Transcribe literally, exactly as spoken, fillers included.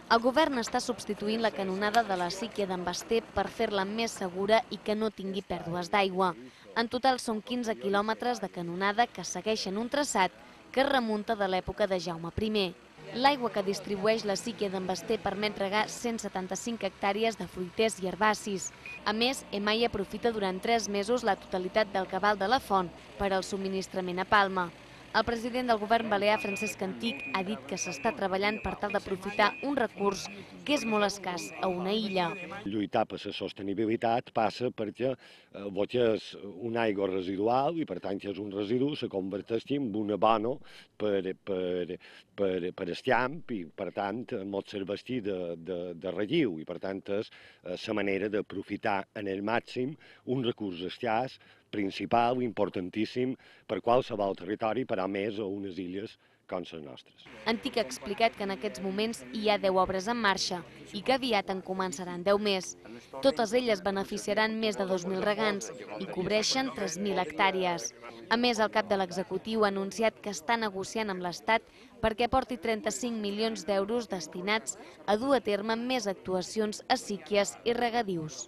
El govern està substituint la canonada de la síquia d'en Basté per fer-la més segura i que no tingui pèrdues d'aigua. En total són quinze quilòmetres de canonada que segueixen un traçat que es remunta de l'època de Jaume primer. L'aigua que distribueix la síquia d'en Basté permet regar cent setanta-cinc hectàrees de fruiters i herbacis. A més, EMAI aprofita durant tres mesos la totalitat del cabal de la font per al subministrament a Palma. El president del govern balear, Francesc Antich, ha dit que s'està treballant per tal d'aprofitar un recurs que és molt escàs a una illa. Lluitar per la sostenibilitat passa perquè el que és una aigua residual i per tant que és un residu se converteixi en un abono per, per, per, per el camp i per tant molt serveixi de, de, de relliu i per tant és la manera d'aprofitar en el màxim un recurs escàs, principal, importantíssim per qualsevol territori, per a més a unes illes com les nostres. Antich ha explicat que en aquests moments hi ha deu obres en marxa i que aviat en començaran deu més. Totes elles beneficiaran més de dos mil regants i cobreixen tres mil hectàrees. A més, el cap de l'executiu ha anunciat que està negociant amb l'Estat perquè aporti trenta-cinc milions d'euros destinats a dur a terme més actuacions a síquies i regadius.